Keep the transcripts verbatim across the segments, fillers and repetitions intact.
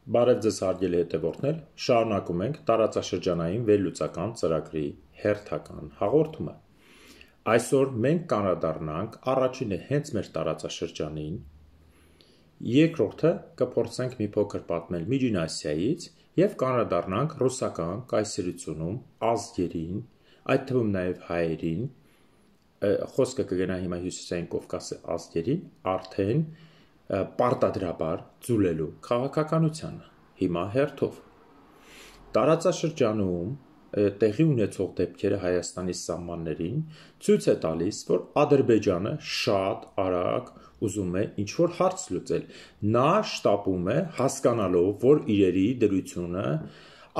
Բարև ձեզ հարգելի հետևորդներ, շարունակում ենք տարածաշրջանային վերլուծական ծրագրի հերթական հաղորդումը։ Այսօր մենք կանդրադառնանք առաջինը հենց մեր տարածաշրջանին, երկրորդը կփորձենք մի փոքր պատմել Միջին Ասիայից և կանդրադառնանք ռուսական կայսրությունում ազգերին, այդ թվում նաև հայերին, խոսքը կգնա հիմա Հյուսիսային Կովկասի ազգերին, արդեն պարտադրաբար ձուլելու քաղաքականությանը, հիմա հերթով։ Տարածաշրջանում տեղի ունեցող դեպքերը Հայաստանի սահմաններին ցույց է տալիս, որ Ադրբեջանը շատ արագ ուզում է ինչ-որ հարց լուծել։ Նա շտապում է հասկանալով, որ իրերի դրությունը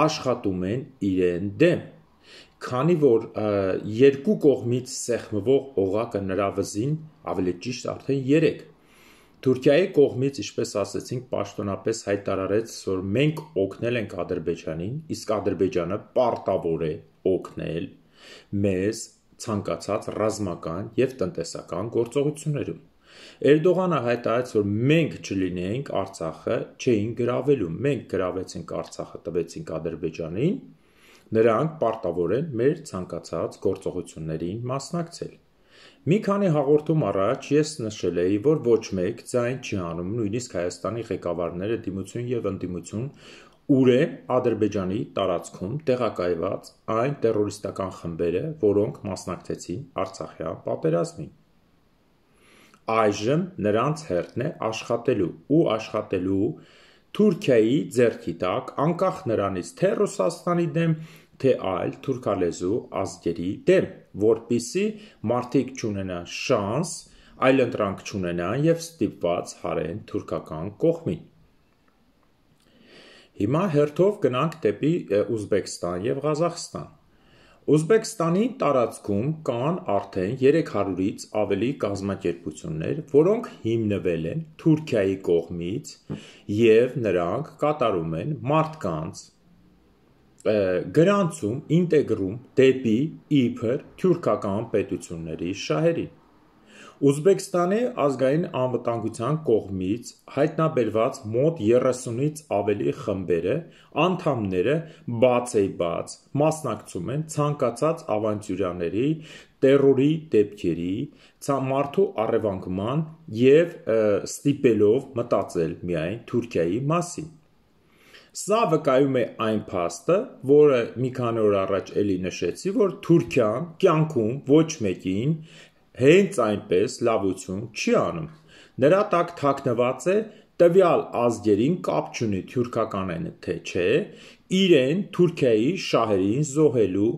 աշխատում են իրեն դեմ, քանի որ երկու կողմից սեղմվող օղակը նրա վզին, ավելի ճիշտ արդեն երեք։ Թուրքիայի կողմից, ինչպես ասացինք, պաշտոնապես հայտարարեց, որ մենք օգնել ենք Ադրբեջանին, իսկ Ադրբեջանը պարտավոր է օգնել մեզ ցանկացած ռազմական և տնտեսական գործողություններում։ Էրդողանը հայտարարեց, որ մենք չլինեինք Արցախը չէին գրավելու, մենք գրավեցինք Արցախը, տվեցինք Ադրբեջանին, նրանք պարտավոր են մեր ցանկացած գործողություններին մասնակցել։ Մի քանի հաղորդում առաջ ես նշել էի, որ ոչ մեկ ձայն չի հանում, նույնիսկ Հայաստանի ղեկավարները դիմություն և ընդդիմություն, ուր են Ադրբեջանի տարածքում տեղակայված այն տերորիստական խմբերը, որոնք մասնակցեցին Արցախյան պատերազմին։ Այժմ նրանց հերթն է աշխատելու ու աշխատելու Թուրքիայի ձեռքի տակ, անկախ նրանից, թե Ռուսաստանի դեմ, թե այլ թուրքալեզու ազգերի դեմ, որպեսզի մարդիկ չունենան շանս, այլընտրանք չունենան և ստիպված հարեն թուրքական կողմին։ Հիմա հերթով գնանք դեպի Ուզբեկստան և Ղազախստան։ Ուզբեկստանի տարածքում կան արդեն երեք հարյուրից ավելի կազմակերպություններ, որոնք հիմնվել են Թուրքիայի կողմից և նրանք կատարում են մարդկանց գրանցում, ինտեգրում դեպի իբր թյուրքական պետությունների շահերին։ Ուզբեկստանի ազգային անվտանգության կողմից հայտնաբերված մոտ երեսունից ավելի խմբերը, անդամները բացեիբաց մասնակցում են ցանկացած ավանտյուրաների, տերորի դեպքերի, մարդու առևանգման և ստիպելով մտածել միայն Թուրքիայի մասին։ Սա վկայում է այն փաստը, որը մի քանի օր առաջ էլի նշեցի, որ Թուրքիան կյանքում ոչ մեկին հենց այնպես լավություն չի անում։ Նրա տակ թաքնված է տվյալ ազգերին կապ չունի թյուրքական են թե չէ, իրեն Թուրքիայի շահերին զոհելու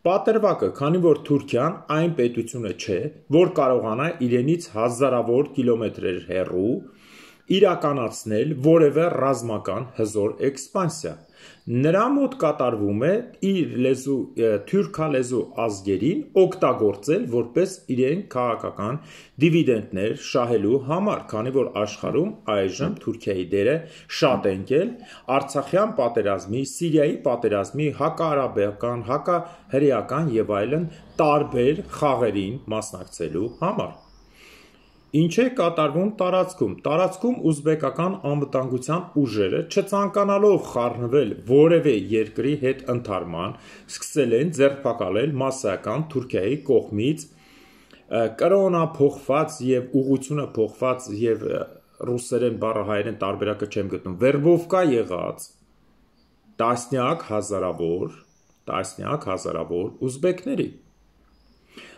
պատրվակը, քանի որ Թուրքիան այն պետությունը չէ, որ կարողանա իրենից հազարավոր կիլոմետրեր հեռու իրականացնել որևէ ռազմական հզոր էքսպանսիա։ Նրա մոտ կատարվում է իր լեզու թյուրքալեզու ազգերին օգտագործել որպես իրեն քաղաքական դիվիդենտներ շահելու համար, քանի որ աշխարհում այժմ Թուրքիայի դերը շատ ընկել Արցախյան պատերազմի, Սիրիայի պատերազմի, հակաարաբիական, հակահրեական և այլն տարբեր խաղերին մասնակցելու համար։ Ինչ է կատարվում տարածքում։ Տարածքում ուզբեկական անվտանգության ուժերը, չցանկանալով խառնվել որևէ երկրի հետ ընդհարման, սկսել են ձերբակալել մասսայական Թուրքիայի կողմից կրոնափոխված և ուղղությունը փոխված և ռուսերեն բառը հայերեն տարբերակը չեմ գտնում, վերբովկա եղած տասնյակ հազարավոր, տասնյակ հազարավոր ուզբեկների։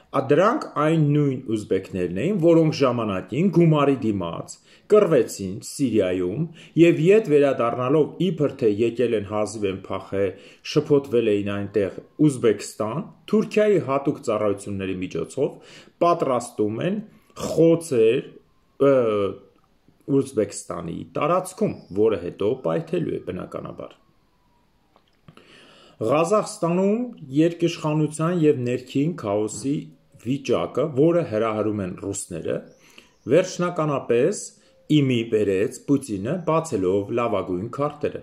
Դրանք այն նույն ուզբեկներն էին, որոնք ժամանակին գումարի դիմաց կռվեցին Սիրիայում և ետ վերադառնալով իբր թե եկել են հազիվ են փախել, շփոթվել էին այնտեղ Ուզբեկստան, Թուրքիայի հատուկ ծառայությունների միջոցով պատրաստում են խոցեր Ուզբեկստանի տարածքում, որը հետո պայթելու է բնականաբար։ Ղազախստանում երկիշխանության և ներքին քաոսի վիճակը, որը հրահրում են ռուսները, վերջնականապես իմի բերեց Պուտինը, բացելով լավագույն քարտերը։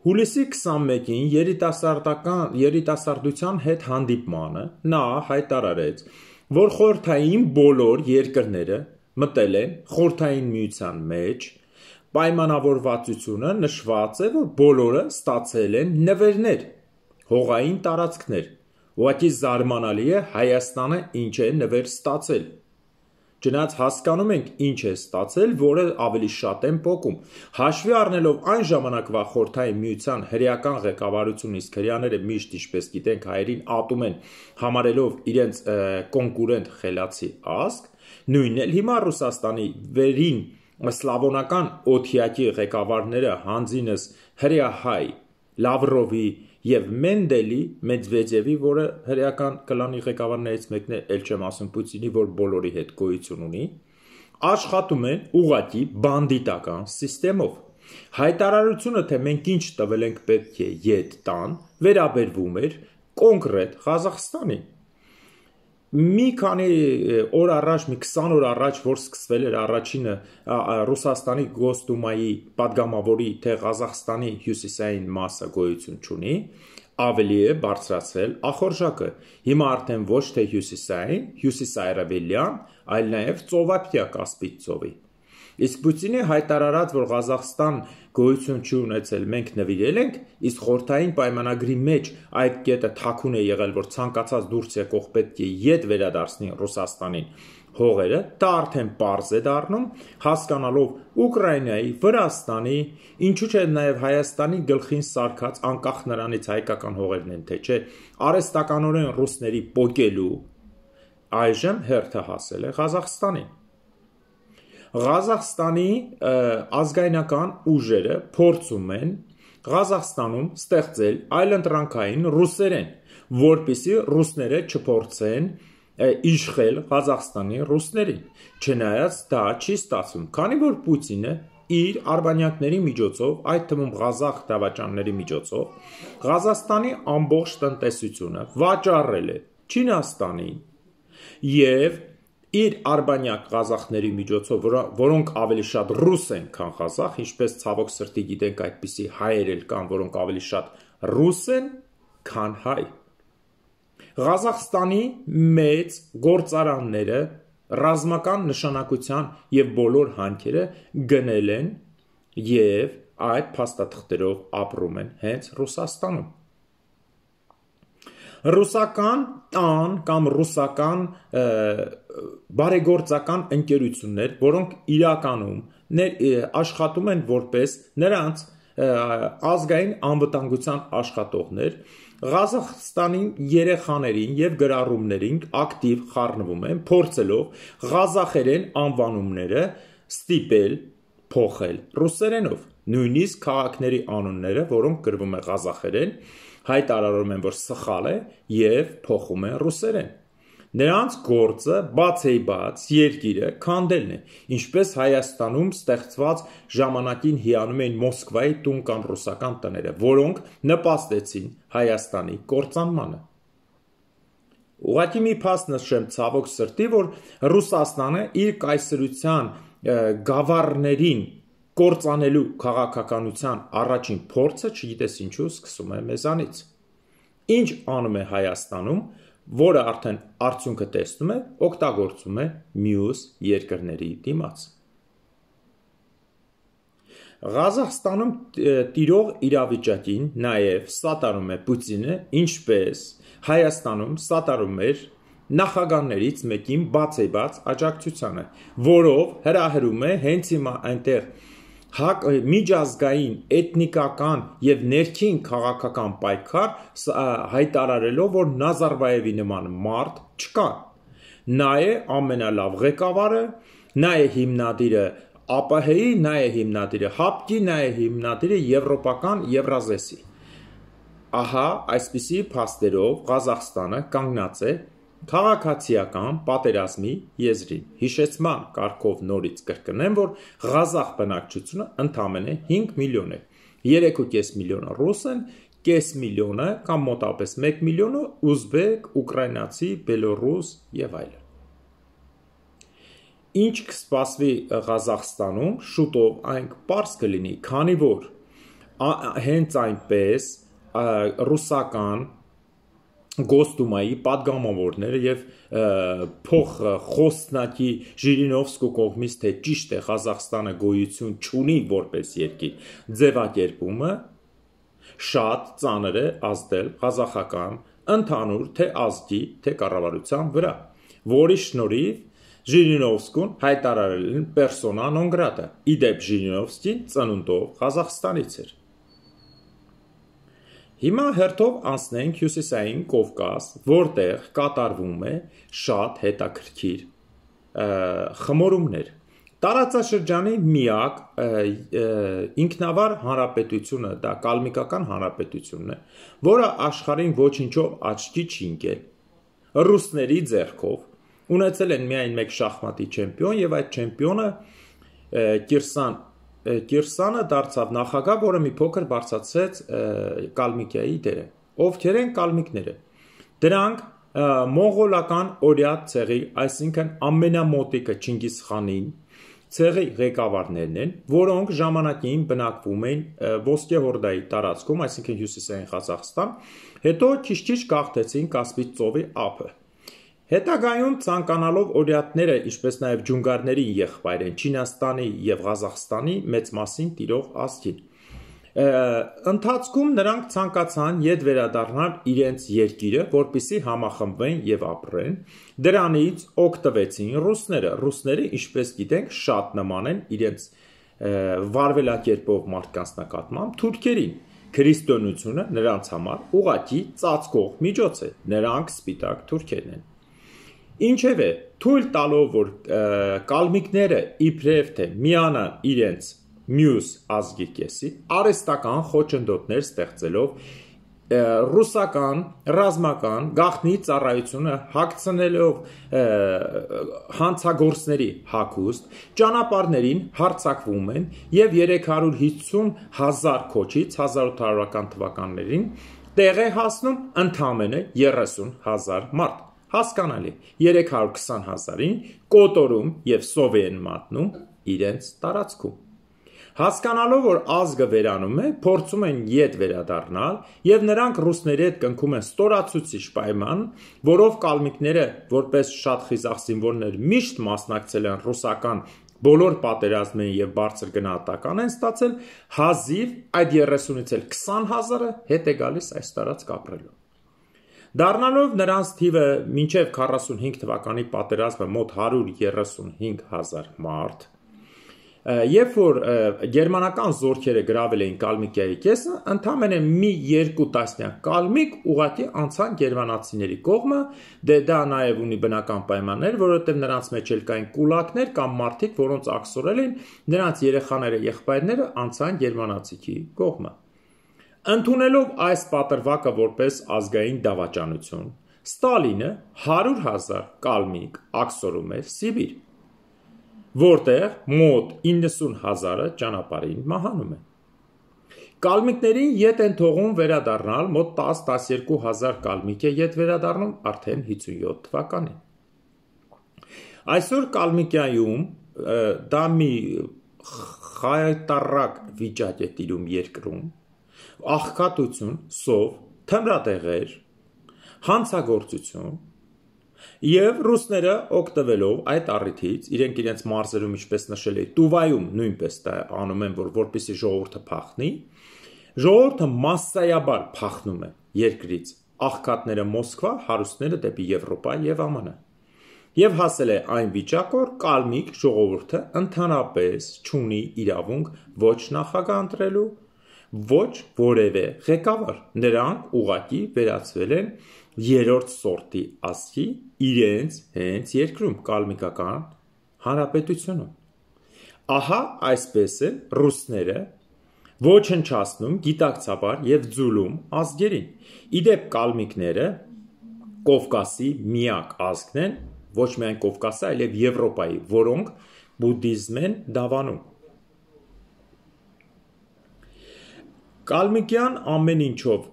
Հուլիսի քսանմեկին երիտասարդության հետ հանդիպմանը նա հայտարարեց, որ խորհրդային բոլոր երկրները մտել են Խորհրդային Միության մեջ, պայմանավորվածությունը նշված է, որ բոլորը ստացել են նվերներ, հողային տարածքներ։ Ուղղակի զարմանալի է Հայաստանը ինչ է նվեր ստացել։ Չնայած հասկանում ենք ինչ է ստացել, որը ավելի շատ են պոկում։ Հաշվի առնելով այն ժամանակվա Խորհրդային Միության հրեական ղեկավարությունը, իսկ հրեաները միշտ, ինչպես գիտենք, հայերին ատում են, համարելով իրենց կոնկուրենտ խելացի ազգ, նույնն էլ հիմա Ռուսաստանի վերին սլավոնական օթյակի ղեկավարները հանձինս հրեահայ Լավրովի եւ Մենդելի, Մեդվեդևի, որը հրեական կլանի ղեկավարներից մեկն է, ել չեմ ասում Պուտինի, որ բոլորի հետ գոյություն ունի, աշխատում են ուղղակի բանդիտական սիստեմով։ Հայտարարությունը, թե մենք ինչ տվել ենք պետք է ետ տան, վերաբերվում էր կոնկրետ Ղազախստանին։ Մի քանի օր առաջ, մի քսան օր առաջ, որ սկսվել էր առաջինը Ռուսաստանի Գոսդումայի падգամավորի, թե Ղազախստանի հյուսիսային մասը գոյություն չունի, ավելի է բարձրացրել ախորժակը։ Հիմա արդեն ոչ թե հյուսիսային, հյուսիսարևելյան, այլ նաև ծովափնյա Կասպից ծովի։ Իսկ Պուտինի հայտարարած, որ Ղազախստան գոյություն չի ունեցել, մենք նվիրել ենք, իսկ խորհրդային պայմանագրի մեջ այդ կետը թաքուն է եղել, որ ցանկացած դուրս եկող պետք է ետ վերադարձնի Ռուսաստանին հողերը, դա արդեն պարզ է դառնում, հասկանալով Ուկրաինայի, Վրաստանի, ինչու՞ չէ նաև Հայաստանի գլխին սարքած, անկախ նրանից հայկական հողերն են, թե չէ, արհեստականորեն ռուսների պոկելու, այժմ հերթը հասել է Ղազախստանին։ Ղազախստանի ազգայնական ուժերը փորձում են Ղազախստանում ստեղծել այլընտրանքային ռուսերեն, որպեսզի ռուսները չփորձեն իշխել Ղազախստանի ռուսներին, չնայած դա չի ստացվում, քանի որ Պուտինը իր արբանյակների միջոցով, այդ թվում ղազախ դավաճանների միջոցով, Ղազախստանի ամբողջ տնտեսությունը վաճառել է Չինաստանին եւ իր արբանյակ ղազախների միջոցով, որոնք ավելի շատ ռուս են, քան ղազախ, ինչպես ցավոք սրտի գիտենք, այդպիսի հայեր էլ կան, որոնք ավելի շատ ռուս են, քան հայ։ Ղազախստանի մեծ գործարանները ռազմական նշանակության եւ բոլոր հանքերը գնել են եւ այդ փաստաթղթերով ապրում են հենց Ռուսաստանում։ Ռուսական տան կամ ռուսական բարեգործական ընկերություններ, որոնք իրականում աշխատում են որպես նրանց ազգային անվտանգության աշխատողներ, Ղազախստանի երեխաներին եւ գրառումներին ակտիվ խառնվում են, փորձելով ղազախերեն անվանումները ստիպել փոխել ռուսերենով, նույնիսկ քաղաքների անունները, որոնք գրվում է ղազախերեն, հայտարարում են, որ սխալ է եւ փոխում են ռուսերեն։ Նրանց գործը բացեիբաց երկիրը քանդելն է, ինչպես Հայաստանում ստեղծված ժամանակին հիանում էին Մոսկվայի տուն կամ ռուսական տները, որոնք նպաստեցին Հայաստանի կործանմանը։ Ուղղակի մի փաստ նշեմ ցավոք սրտի, որ Ռուսաստանը իր կայսրության գավառներին կործանելու քաղաքականության առաջին փորձը, չգիտես ինչու, սկսում է մեզանից։ Ինչ անում է Հայաստանում, որը արդեն արդյունքը տեսնում է, օգտագործում է մյուս երկրների դիմաց։ Ղազախստանում տիրող իրավիճակին նաև սատարում է Պուտինը, ինչպես Հայաստանում սատարում էր նախագահներից մեկին բացեիբաց աջակցությանը, որով հրահրում է հենց հիմա այնտեղ միջազգային էթնիկական եւ ներքին քաղաքական պայքար հայտարարելով, որ Նազարբաևի նման մարդ չկա։ Նա է ամենալավ ղեկավարը, նա է հիմնադիրը ԱՊՀ-ի, նա է հիմնադիրը ՀԱՊԿ-ի, նա է հիմնադիրը Եվրոպական Եվրազեսի։ Ահա այսպիսի փաստերով Ղազախստանը կանգնած է քաղաքացիական պատերազմի եզրին։ Հիշեցման կարգով նորից կրկնեմ, որ ղազախ բնակչությունը ընդամենը հինգ միլիոն է, երեք ու կես միլիոնը ռուս են, կես միլիոնը կամ մոտապես մեկ միլիոնը ուզբեկ, ուկրաինացի, բելոռուս եւ այլն։ Ինչ կսպասվի Ղազախստանում, շուտով այն պարզ կլինի, քանի որ հենց այնպես ռուսական Գոստումայի падգամավորները եւ փոխ խոսնակի Ժիրինովսկու կողմից թե ճիշտ է Ղազախստանը գոյություն չունի որպես երկիր ձևակերպումը շատ ծանր է ազդել ղազախական ընդհանուր թե ազգի թե կառավարության վրա, որի շնորհիվ Ժիրինովսկուն հայտարարել են պերսոնա նոն գրատա։ Իդեպ Ժիրինովսկին ծնունդով Ղազախստանից էր։ Հիմա հերթով անցնենք հյուսիսային Կովկաս, որտեղ կատարվում է շատ հետաքրքիր խմորումներ։ Տարածաշրջանի միակ ինքնավար հանրապետությունը դա կալմիկական հանրապետությունն է, որը աշխարհին ոչինչով աչքի չի ընկել։ Ռուսների ձեռքով ունեցել են միայն մեկ շախմատի չեմպիոն եւ այդ չեմպիոնը Կիրսան Կիրսանը դարձավ նախագահ, որը մի փոքր բարձրացրեց Կալմիկիայի դերը։ Ովքեր են կալմիկները։ Դրանք մոնղոլական օրիաթ ցեղի, այսինքն ամենամոտիկը Չինգիզ խանին ցեղի ղեկավարներն են, որոնք ժամանակին բնակվում էին Ոսկե Հորդայի տարածքում, այսինքն հյուսիսային Ղազախստան, հետո քիչ-քիչ գաղթեցին Կասպից ծովի ափը։ Հետագայում ցանկանալով օրիաթները, ինչպես նաև ջունգարների եղբայր են Չինաստանի եւ Ղազախստանի մեծ մասին տիրող ազգին։ Ընթացքում նրանք ցանկացան յետ վերադառնալ իրենց երկիրը, որպիսի համախմբվեն եւ ապրեն։ Դրանից օգտվեցին ռուսները։ Ռուսները, ինչպես գիտենք, շատ նման են իրենց վարվելակերպով մարդկանց նկատմամբ թուրքերին։ Քրիստոնեությունը նրանց համար ուղղակի ծածկող միջոց է։ Նրանք սպիտակ թուրքերն են։ Ինչևէ, թույլ տալով, որ կալմիկները իբրև թե միանան իրենց մյուս ազգի կեսի, արհեստական խոչընդոտներ ստեղծելով ռուսական ռազմական գաղտնի ծառայությունը հագցնելով հանցագործների հագուստ, ճանապարհներին հարձակվում են եւ երեք հարյուր հիսուն հազար քոչից հազար ութ հարյուրական թվականներին տեղ է հասնում ընդամենը երեսուն հազար մարդ։ Հասկանալի, երեք հարյուր քսան հազարին կոտորում եւ սով են մատնում իրենց տարածքում։ Հասկանալով, որ ազգը վերանում է, փորձում են յետ վերադառնալ եւ նրանք ռուսների հետ կնքում են ստորացուցիչ պայման, որով կալմիկները, որպես շատ խիզախ զինվորներ, միշտ մասնակցել են ռուսական բոլոր պատերազմներին եւ բարձր գնահատական են ստացել, հազիվ այդ երեսունից էլ քսան հազարը հետ է գալիս այս տարածք ապրելու։ Դառնալով նրանց թիվը մինչև քառասունհինգ թվականի պատերազմը մոտ հարյուր երեսունհինգ հազար մարդ, երբ որ գերմանական զորքերը գրավել էին Կալմիկիայի կեսը, ընդամենը մի երկու տասնյակ կալմիկ ուղղակի անցան գերմանացիների կողմը, դե դա նաև ունի բնական պայմաններ, որովհետև նրանց մեջ էլ կային կուլակներ կամ մարդիկ, որոնց աքսորել էին, նրանց երեխաները, եղբայրները անցան գերմանացիքի կողմը։ Ընդունելով այս պատրվակը որպես ազգային դավաճանություն, Ստալինը հարյուր հազար կալմիկ աքսորում էր Սիբիր, որտեղ մոտ իննսուն հազարը ճանապարհին մահանում են։ Կալմիկներին յետ են թողում վերադառնալ, մոտ տաս տասներկու հազար կալմիկ է յետ վերադառնում արդեն հիսունյոթ թվականին։ Այսօր Կալմիկիայում դա մի խայտառակ վիճակ է տիրում երկրում, աղքատություն, սով, թմրատեղեր, հանցագործություն եւ ռուսները օգտվելով այդ առիթից իրենք իրենց մարզերում ինչպես նշել է Տուվայում նույնպես դա անում են, որ որպեսզի ժողովուրդը փախնի, ժողովուրդը massայաբար փախնում է երկրից, աղքատները Մոսկվա, հարուստները դեպի Եվրոպա եւ ԱՄՆ։ Եվ հասել է այն վիճակ, որ կալմիկ ժողովուրդը ընդհանրապես չունի իրավունք ոչ նախագահ ընտրելու, ոչ որևէ ղեկավար, նրանք ուղղակի վերածվել են երրորդ սորտի ազգի իրենց հենց երկրում կալմիկական հանրապետությունում։ Ահա այսպես են ռուսները ոչնչացնում գիտակցաբար եւ ձուլում ազգերին։ Իդեպ կալմիկները Կովկասի միակ ազգն են, ոչ միայն Կովկասի, այլև Եվրոպայի, որոնք բուդդիզմ են դավանում։ Կալմիկյան ամեն ինչով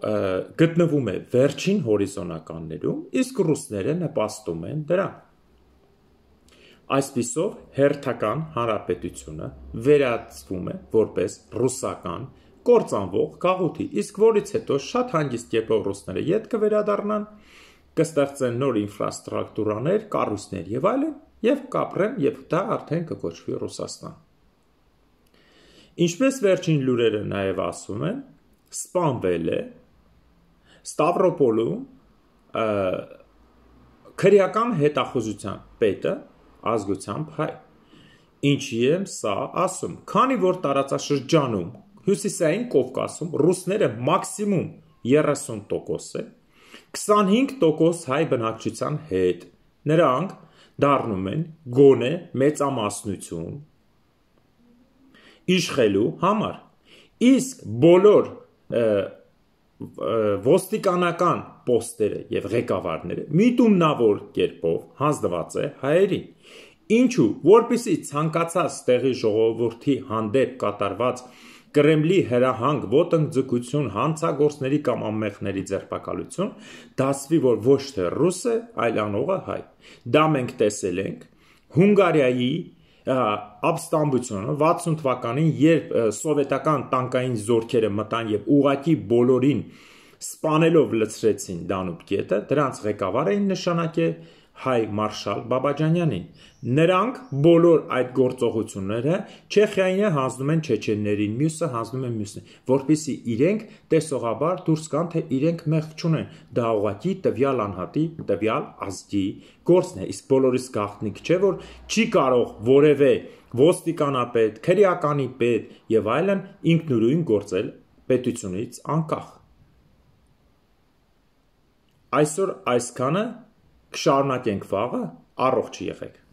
գտնվում է վերջին հորիզոնականներում, իսկ ռուսները նպաստում են դրան։ Այսպիսով հերթական հանրապետությունը վերածվում է որպես ռուսական կործանվող գաղութի, իսկ որից հետո շատ հանգիստ եպող ռուսները ետ կվերադառնան, կստեղծեն նոր ինֆրաստրուկտուրաներ, կառույցներ եւ այլն, եւ կապրեն, եւ դա արդեն կկոչվի Ռուսաստան։ Ինչպես վերջին լուրերը նաեւ ասում են, սպանվել է Ստավրոպոլում քրեական հետախուզության պետը ազգությամբ հայ։ Ինչի եմ սա ասում, քանի որ տարածաշրջանում հյուսիսային Կովկասում ռուսները մաքսիմում երեսուն տոկոս է, քսանհինգ տոկոս հայ բնակչության հետ, նրանք դառնում են գոնե մեծամասնություն իշխելու համար, իսկ բոլոր ոստիկանական պոստերը եւ ղեկավարները միտումնավոր կերպով հանձնված է հայերին, ինչու, որպեսզի ցանկացած տեղի ժողովրդի հանդեպ կատարված Կրեմլի հրահանգ ոտնձգություն հանցագործների կամ անմեղների ձերբակալություն դասվի, որ ոչ թե ռուս է, այլ անողը հայ։ Դա մենք տեսել ենք Հունգարիայի ապստամբությունը վաթսուն թվականին, երբ սովետական տանկային զորքերը մտան եւ ուղակի բոլորին սպանելով լցրեցին Դանուբ գետը, դրանց ղեկավար էին նշանակել հայ մարշալ Բաբաջանյանին։ Նրանք բոլոր այդ գործողությունները Չեխիային հանձնում են չեչեններին, մյուսը հանձնում են մյուսին, որպեսզի իրենք տեսողաբար դուրս գան, թե իրենք մեղք չունեն։ Դա ուղղակի տվյալ անհատի, տվյալ ազգի գործն է, իսկ բոլորիս գաղտնիք չէ, որ չի կարող որևէ ոստիկանապետ, քրեականի պետ եւ այլն ինքնուրույն գործել պետությունից անկախ։ Այսօր այսքանը, կշարունակենք վաղը, առողջ եղեք։